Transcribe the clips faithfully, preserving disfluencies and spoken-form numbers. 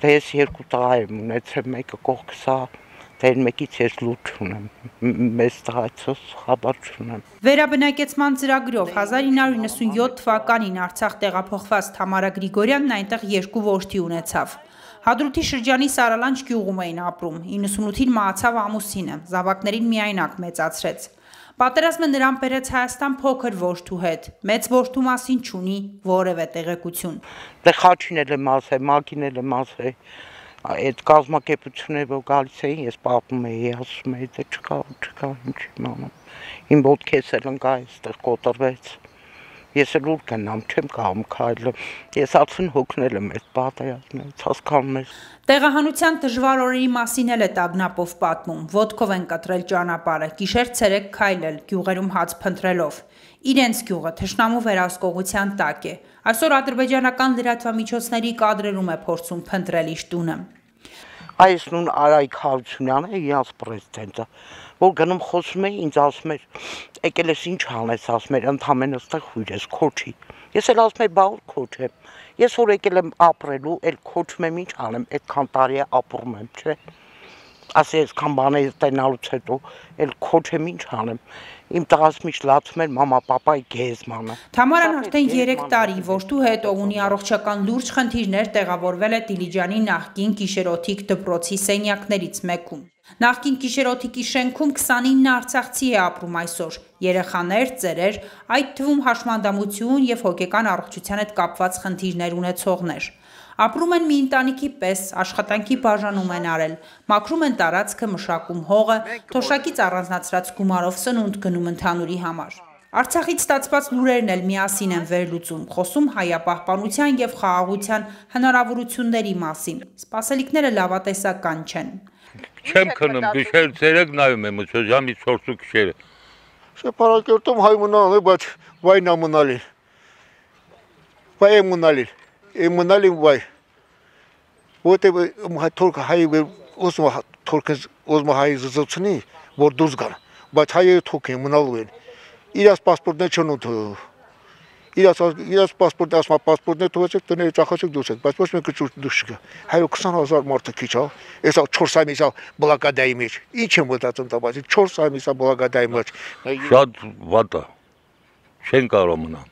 Դե ես երկու տղա եմ ունեցել, մեկը կողքս է, դեր մեկից ես լուր չունեմ, մեծ տղայցս խաբար չունեմ։ Վերաբնակեցման ծրագրով հազար ինը հարյուր նվաթ թվականին Արցախ տեղափոխված Թամարա Գրիգորյանն այնտեղ երկու որդի ունեցավ։ Հադրութի շրջանի Սարալանջ գյուղում էին ապրում, իննսունութին մահացավ ամուսինը, զավակներին միայնակ մեծացրեց։ Պատերազմը նրան բերեց Հայաստան փոքր որդու հետ, մեծ որդու մասին չունի որևէ տեղեկություն։ Դե Խաչին էլ եմ ասել, Մակին էլ եմ ասել, այդ կազմակերպությունները որ գալիս էին, ես պատմում էի, ասում էի, դե չկա, չկա, ինչ իմանամ։ Իմ ոտքես էլ ընկա այստեղ կոտրվեց։ Ես էլ ուր գնամ, չեմ կարող քայլել։ Ես արդեն հոգնել եմ այդ պատերազմից, հասկանում ես։ Տեղահանության դժվար օրերի մասին էլ է Տագնապով պատմում, ոտքով են կտրել ճանապարհը, գիշեր-ցերեկ քայլել, գյուղերում հաց փնտրելով։ Իրենց գյուղը թշնամու վերահսկողության տակ է։ Այսօր ադրբեջանական լրատվամիջոցների կադրերում է փորձում փնտրել իր տունը։ Այս նույն Արայք Հարությունյանը, իրանց պրեզիդենտը, որ գնում խոսում է, ինձ ասում էր, եկել ես ինչ անես, ասում էր, ընդամենը ստեղ հույր ես, քոչի։ Ես էլ ասում եմ, բա որ քոչեմ։ Ես որ եկել եմ ապրելու, էլ քոչում եմ, ինչ անեմ, այդքան տարի է ապրում եմ, չէ։ Ասի այսքան բաներ տենալուց հետո, էլ քոչեմ, ինչ անեմ։ Իմ տղաս միշտ լացում էր մամա, պապայի գեզմանը։ Թամարան արդեն երեք տարի որդու հետ ով ունի առողջական լուրջ խնդիրներ տեղավորվել է Դիլիջանի նախկին Կիշերօթիկ դպրոցի սենյակներից մեկում։ Նախկին Կիշերօթիկի շենքում քսանինը արցախցի է ապրում այսօր, երեխաներ, ծերեր, այդ թվում հաշմանդամություն և հոգեկան առողջության հետ կապված խնդիրներ ունեցողներ։ Ապրում են մի ընտանիքի պես, աշխատանքի բաժանում են արել, մաքրում են տարածքը, մշակում հողը, թոշակից առանձնացրած գումարով սնունդ գնում ընդհանուրի համար։ Արցախից ստացված լուրերն էլ միասին են վերլուծում, խոսում հայապահպանության և խաղաղության հնարավորությունների մասին։ Սպասելիքները լավատեսական չեն։ Չեմ քնում, գիշեր ցերեկ նայում եմ, ժամի չորսու գիշերը։ Շեփարակերտում հայ մնալ է, բայց վայն ամնալի։ Վայ ամնալի։ Էմնալի վայ։ Որտե թորք հայ ոսմա թորքս ոսմա հայ զծուցնի, որ դուրս գան, բայց հայը թոք են մնալու են։ Իրաց պասպորտն չեն ուտու։ Իրաց իրաց պասպորտը ասма պասպորտն թողեցեք տները ճախացեք դուրս եք, բայց ոչ մեկը դուրս չգա։ Հայը քսան հազար մարդ քիչ է, էսա չորս ամիսա բլոկադայի մեջ։ Ինչ եմ մտածում տա, բայց չորս ամիսա բլոկադայի մեջ։ Շատ վատ է։ Չեն կարող մնալ։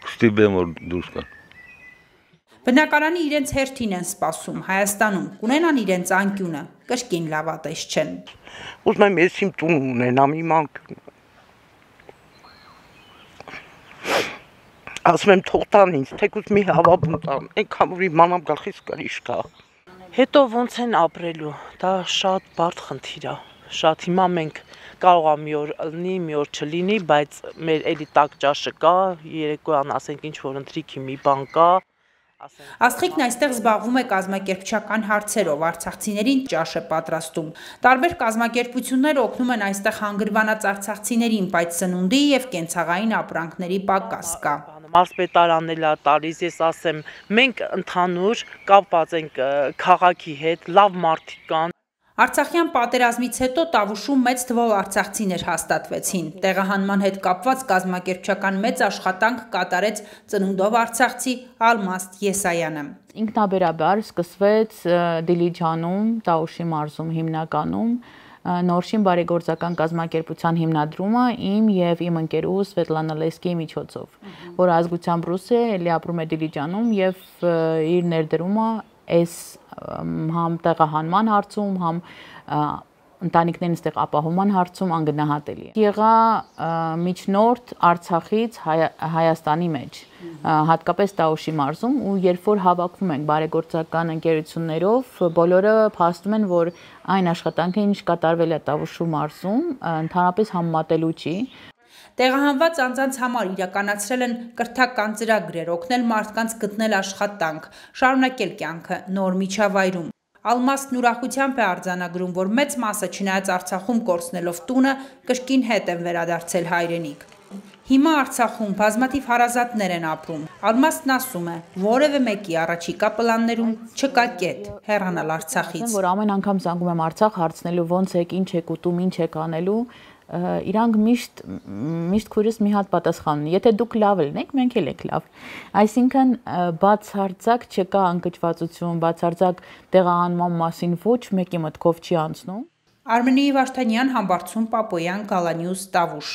Կստիպեմ որ դուրս գան։ Բնակարանի իրենց հերթին են սպասում Հայաստանում, կունենան իրենց անկյունը, կրկին լավատես չեն։ Ուզում եմ ես իմ տուն ունենամ, իմ անկյունը։ Ասում եմ թող տան ինձ, թեկուզ մի հավաբուն տան, այնքան որ իմանամ գլխիս կրիշ կա։ Հետո ոնց են ապրելու, դա շատ բարդ խնդիր է, շատ հիմա մենք կարող է մի օր լինի, մի օր չլինի, բայց մեր էլի տաք ճաշը կա, երեկոյան ասենք ինչ որ ընթրիքի մի բան կա։ Աստղիկն այստեղ զբաղվում է կազմակերպչական հարցերով, արցախցիներին ճաշ է պատրաստում։ Տարբեր կազմակերպություններ օգնում են այստեղ հանգրվանած արցախցիներին, բայց սնունդի և կենցաղային ապրանքների պակաս կա։ Մարզպետարանն էլ է տալիս, ես ասեմ, մենք ընդհանուր կապված ենք քաղաքի հետ, լավ մարդիկ կան։ Արցախյան պատերազմից հետո Տավուշում մեծ թվով արցախցիներ հաստատվեցին։ Տեղահանման հետ կապված կազմակերպչական մեծ աշխատանք կատարեց ծնունդով արցախցի Ալմաստ Եսայանը։ Ինքնաբերաբար սկսվեց Դիլիջանում, Տավուշի մարզում հիմնականում Նորշին բարեգործական կազմակերպության հիմնադրումը իմ և իմ ընկերուհու Սվետլանա Լեսկիի միջոցով, որ ազգությամբ ռուս է, էլի ապրում է Դիլիջանում և իր ներդրումը այս համ տեղահանման հարցում, համ ընտանիքներին ստեղ ապահովման հարցում անգնահատելի է։ Եղա միջնորդ Արցախից Հայաստանի մեջ, հատկապես Տավուշի մարզում, ու երբ որ հավաքվում ենք բարեգործական ընկերություններով, բոլորը փաստում են, որ այն աշխատանքը, ինչ կատարվել է Տավուշի մարզում, ընդհանրապես համեմատելու չի։ Տեղահանված անձանց համար իրականացրել են կրթական ծրագրեր, օգնել մարդկանց գտնել աշխատանք, շարունակել կյանքը նոր միջավայրում։ Ալմաստն ուրախությամբ է արձանագրում, որ մեծ մասը չնայած Արցախում կորցնելով տունը, կրկին հետ են վերադարձել հայրենիք։ Հիմա Արցախում բազմաթիվ հարազատներ են ապրում։ Ալմաստն ասում է, որևէ մեկի առաջիկա պլաններում չկա կետ հեռանալ Արցախից։ Որ ամեն անգամ զանգում եմ Արցախ հարցնելու ոնց եք, ինչ եք ուտում, ինչ եք անելու, իրանք միշտ միշտ քուրս մի հատ պատասխան ունի։ Եթե դուք լավ ելնեք, մենք էլ ենք լավ։ Այսինքն բացարձակ չկա անկճվածություն, բացարձակ տեղահանման մասին ոչ մեկի մտքով չի անցնում։ Արմենի Վարդանյան, Համբարձում Պապոյան, Գալանյուզ, Տավուշ։